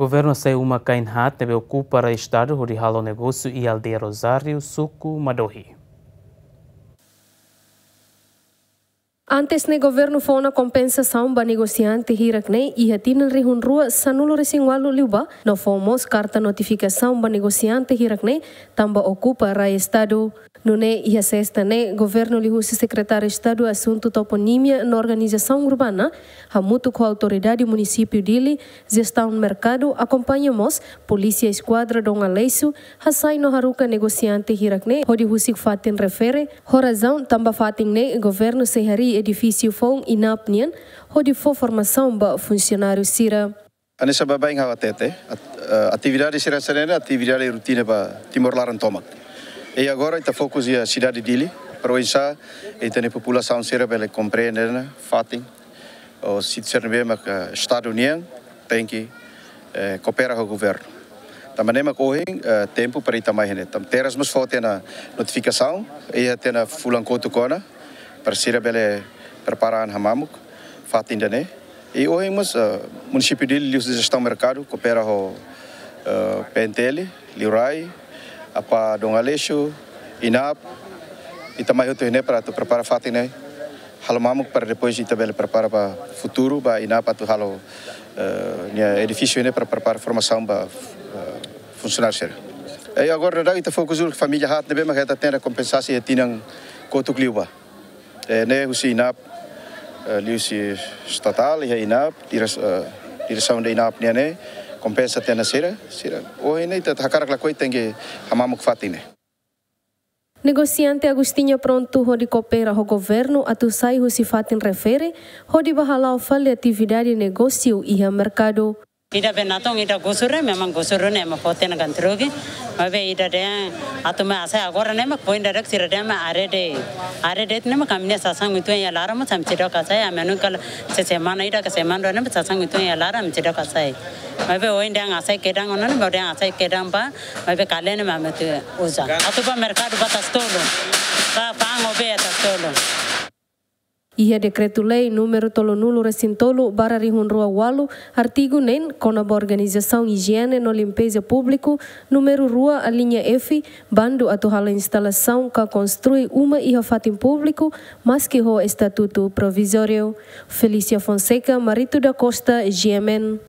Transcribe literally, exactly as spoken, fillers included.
Governu hasai uma kain haat ne'ebé okupa rai estadu hodi halo negósiu iha aldeia Rosário, suku Madohi. Antes ne'e governu fó ona kompensasaun ba negosiante hirak ne'e iha tinan rihun rua sanulu resin ualu liubá, no fó mós karta notifikasaun ba negosiante hirak ne'e tanba okupa rai estadu. Nune'e iha sesta ne'e governu liuhusi Sekretáriu Estadu Asuntu Toponímia no Organizasaun Urbana, hamutuk ho Autoridade Munisípiu Dili, Jestaun Merkadu, akompaña mós Polísia Eskuadra Dom Aleixo, hasai no haruka negosiante hirak ne'e hodi husik fatin refere, ho razaun tanba fatin ne'e governu sei harii edifísiu foun INAP nian hodi fó formasaun ba funsionáriu sira. Hanesan baibain ha'u hatete, at-, eh, atividade sira hanesan ne'e atividade rutina ba Timor laran tomak. I agora ita fokus iha sidade Dili, para oinsá ita-nia populasaun sira bele komprende ona fatin, ou se sira ne'ebé mak, eh, estadu nian, tenke, eh, koopera ho governu. Tanba ne'e mak ohin, eh, tempu para ita mai iha ne'e. Tanba Terras mós fó tiha ona notifikasaun, iha tiha ona fulan kotuk ona, para sira bele prepara an hamamuk fatin ida-ne'e. I ohin mós, eh, Munisípiu Dili liuhusi Jestaun Merkadu koopera ho, eh, P N T L, liurai, APA Dom Aleixo, INAP, ita mai hotu iha ne'e para atu prepara fatin ne'e halo mamuk para depois ita bele prepara ba futuru ba INAP atu halo, eh, nia edifísiu ne'e para prepara formasaun ba, eh, funsionáriu sira. I agora daudaun ita fokus duni família haat ne'ebé mak hetan tiha ona kompensasaun iha tinan kotuk liubá. Eh, ne'e husi INAP, eh, liuhusi estatál, iha INAP, diresaun, eh, diresaun de INAP nian ne'e kompensa tiha ona sira, sira. Ohin ne'e ita hakarak lakohi tenke hamamuk fatin ne'e. Negosiante Agostinho prontu hodi koopera ho governu atu sai husi fatin refere, hodi bá hala'o fali atividade negósiu iha merkadu. Ida be natong ida gusur, memang gusur ne'e ema fó tiha ona ganti rugi. Maibé ida dehan atu mai hasai agora ne'e mak poin ida de'it sira dehan mak haree de'it. Haree de'it ne'e mak ami-nia sasán uitoan iha laran mós ami seidauk hasai, ami nunka la se semana ida ka semana rua ne'e mak sasán uitoan iha laran ami seidauk hasai. Maibé ohin dehan hasai kedan ona ne'e, maibé dehan hasai kedan bá, maibé kalen ne'e mak ami atu uza. Atu bá merkadu bá Tasi Tolu. Bá fa'an ho bee Tasi Tolu. Iha Dekretu-Lei númeru tolunulu resin tolu barra rihun rua ualu, artigu neen, kona-ba organizasaun ijiene no limpeza públiku, númeru rua, alínea F, bandu atu halo instalasaun ka konstrui uma iha fatin públiku, maski ho estatutu provizóriu. Felícia Fonseca, Marito da Costa, G M N.